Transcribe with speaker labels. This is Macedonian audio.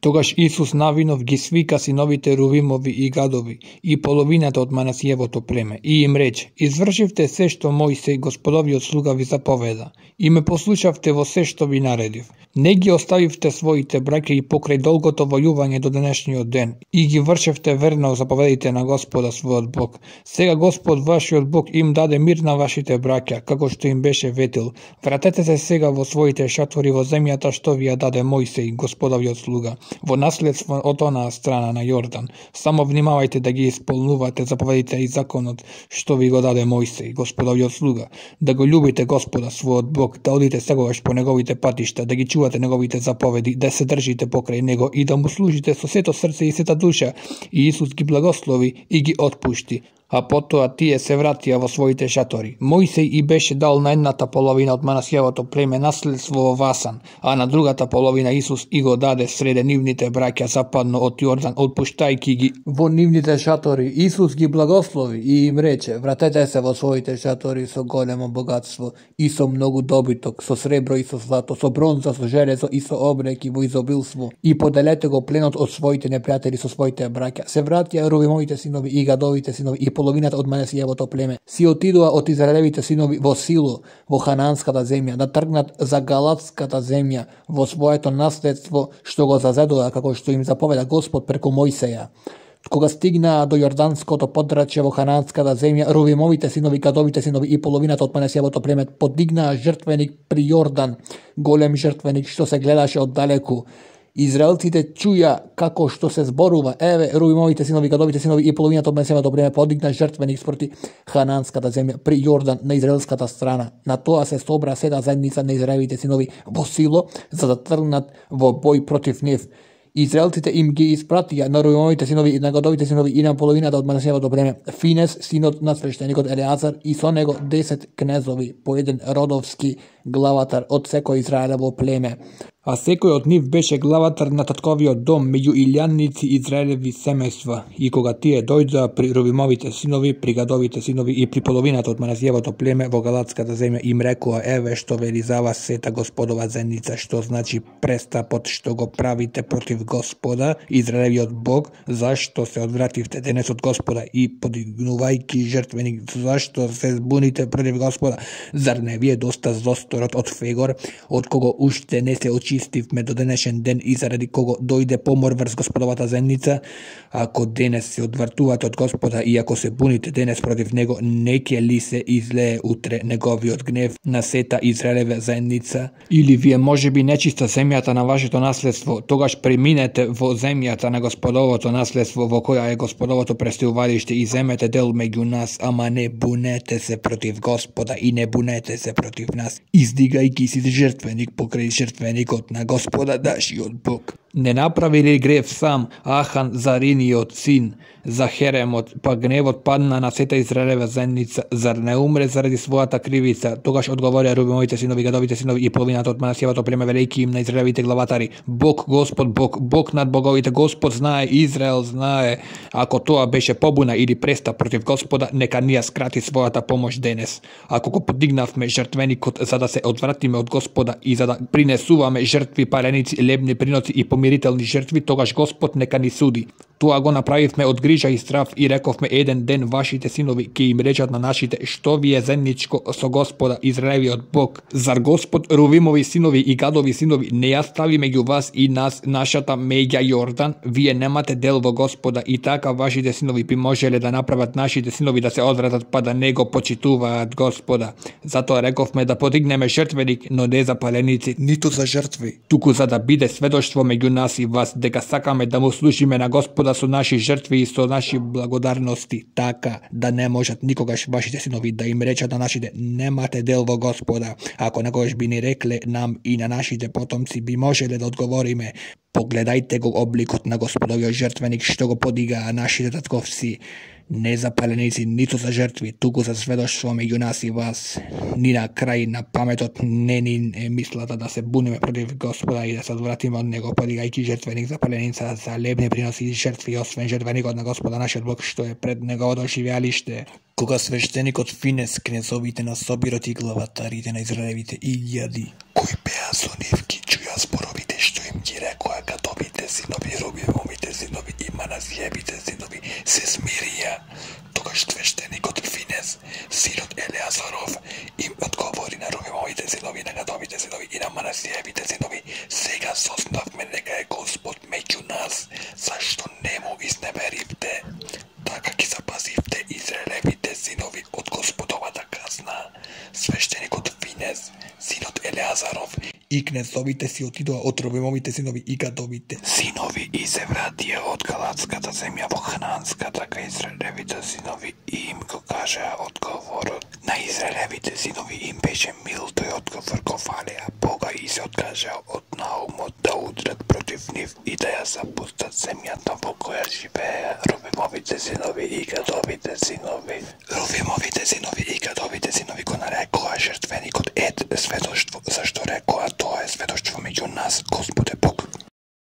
Speaker 1: Тогаш Исус навинов ги свика синовите Рувимови и Гадови и половината од Манасиевото племе и им рече: извршивте се што Мојсей Господовиот слуга ви заповеда и ме послушавте во се што ви наредив. Не ги оставивте своите браќа и покрај долгото војување до денешниот ден и ги вршевте верно заповедите на Господа својот Бог. Сега Господ вашиот Бог им даде мир на вашите браќа, како што им беше ветил. Вратете се сега во своите шатори во земјата што ви ја даде Мојсей Господовиот слуга, во наследство од онаа страна на Јордан. Само внимавајте да ги исполнувате заповедите и законот што ви го даде Мојсей Господовиот слуга, да го љубите Господа својот Бог, да одите секогаш по неговите патишта, да ги чувате неговите заповеди, да се држите покрај него и да му служите со сето срце и сета душа. И Исус ги благослови и ги отпушти. А потоа тие се вратија во своите шатори. Мојсей и беше дал на едната половина од Манасиевото племе наследство во Васан, а на другата половина Исус и го даде среде нивните браќа западно од Јордан, отпуштајки ги во нивните шатори. Исус ги благослови и им рече: вратете се во своите шатори со големо богатство и со многу добиток, со сребро и со злато, со бронза, со железо и со обреки во изобилство, и поделете го пленот од своите непријатели со своите браќа. Се вратија Рувимовите синови и Гадовите синови и половината од Манасиевото племе. Си отидоа од Израелевите синови во Сило, во Хананската земја, да тргнат за Галатската земја во своето наследство што го зазедоа, како што им заповеда Господ преку Мојсеја. Кога стигнаа до Јорданското подрачје во Хананската земја, Рувимовите синови, Гадовите синови и половината од Манасиевото племе подигнаа жртвеник при Јордан, голем жртвеник што се гледаше од далеку. Израелците чуја како што се зборува: еве, Рувимовите синови, Гадовите синови и половината од Манасиевото племе подигна жртвеник спроти Хананската земја при Јордан на израелската страна. На тоа се собра сета заедница на Израелевите синови во Сило, за да тргнат во бој против нив. Израелците им ги испратија на Рувимовите синови и на Гадовите синови и на половината од Манасиевото племе Финес, синот на свештеникот Елеазар, и со него 10 кнезови, по еден родовски главатар од секој Израелево племе. А секој од нив беше главатар на татковиот дом меѓу илјанници Израелеви семејства. И кога тие дојдоа при Рувимовите синови, при Гадовите синови и при половината од Манасиевото племе во Галатската земја, им рекоа: еве што вели за вас сета Господова зеница, што значи престапот што го правите против Господа, Израелевиот Бог, зашто се одвративте денес од Господа и подигнувајќи жртвеник, зашто се збуните против Господа? Зар не ви е доста зосторот од Фегор, од кого уште не се очистивме до денешен ден и заради кого дојде помор врз Господовата земница? Ако денес се одвратувате од Господа и ако се буните денес против него, не ќе ли се излее утре неговиот гнев на сета Израелева заедница? Или вие можеби нечиста земјата на вашето наследство, тогаш преминете во земјата на Господовото наследство, во која е Господовото престилувалиште, и земете дел меѓу нас, ама не бунете се против Господа и не бунете се против нас, издигајќи си жртвеник покрај жртвеникот на Господа нашиот Бог. Не направи ли грев сам Ахан, Зариниот син, за Херемот, па гневот падна на сета Израелева заедница? Зар не умре заради својата кривица? Тогаш одговорија Рувимовите синови, Гадовите синови и половината од Манасиевото племе, велејќи им на Израелевите главатари: Бог, Господ, Бог, Бог над боговите, Господ знае, Израел знае. Ако тоа беше побуна или престап против Господа, нека ние скрати својата помош денес. Ако го подигнавме жртвеникот за да се одвратиме од Господа и за да принесуваме жртви, паленици, лебни приноци и помирителни жртви, тогаш Господ нека ни суди. Тоа го направивме од грижа и страв и рековме еден ден вашите синови ќе им речат на нашите: што ви е заедничко со Господа, Израелевиот Бог? Зар Господ Рувимови синови и Гадови синови не ја стави меѓу вас и нас нашата меѓа Јордан? Вие немате дел во Господа и така вашите синови би можеле да направат нашите синови да се одвратат, па да не го почитуваат Господа. Затоа рековме да подигнеме жртвеник, но не за паленици, ниту за жртви, туку за да биде сведоштво меѓу нас и вас дека сакаме да му служиме на Господа со наши жртви и со наши благодарности, така да не можат никогаш вашите синови да им речат на нашите: немате дел во Господа. Ако некогаш би ни рекле нам и на нашите потомци, би можеле да одговориме: погледајте го обликот на Господовиот жртвеник што го подигаа нашите татковци, не за паленици, ниту за жртви, туку за сведоштво меѓу нас и вас. Ни на крај на паметот не ни е мислата да се буниме против Господа и да се одвратиме од него, подигајќи жртвеник за паленица, за лебни приноси и жртви, освен жртвеникот на Господа нашиот Бог што е пред неговото живеалиште. Кога свештеникот Финес, кнезовите на собирот и главатарите на Израелевите илјади, кои беа со нив, ги чуја зборовите што им ги рекоа Гадовите
Speaker 2: синови, Рувимовите синови и Манасиевите синови се смирија. Тогаш свештеникот Финес, синот Елеазаров, им одговори на Рувимовите синови, на Гадовите синови и на Манасиевите синови: сега сознавме дека е Господ меѓу нас, зашто не му изневеривте. Така ги запазивте Израелевите синови од Господовата казна. Свештеникот Финес, синот Елеазаров и кнезовите си отидоа од Рувимовите синови и Гадовите синови и се вратија од Галатската земја во Хананската кај Израелевите синови и им го кажаа одговорот. На Израелевите синови им беше мил тој одговор, го фалеа Бога и се откажаа од наумот да удрат против нив и да ја запустат земјата во која живееа Рувимовите синови и Гадовите синови. Рувимовите синови и Гадовите синови го нарекоа жртвеникот сведоштво, зашто рекоа: тоа е сведоштво меѓу нас, Господ е Бог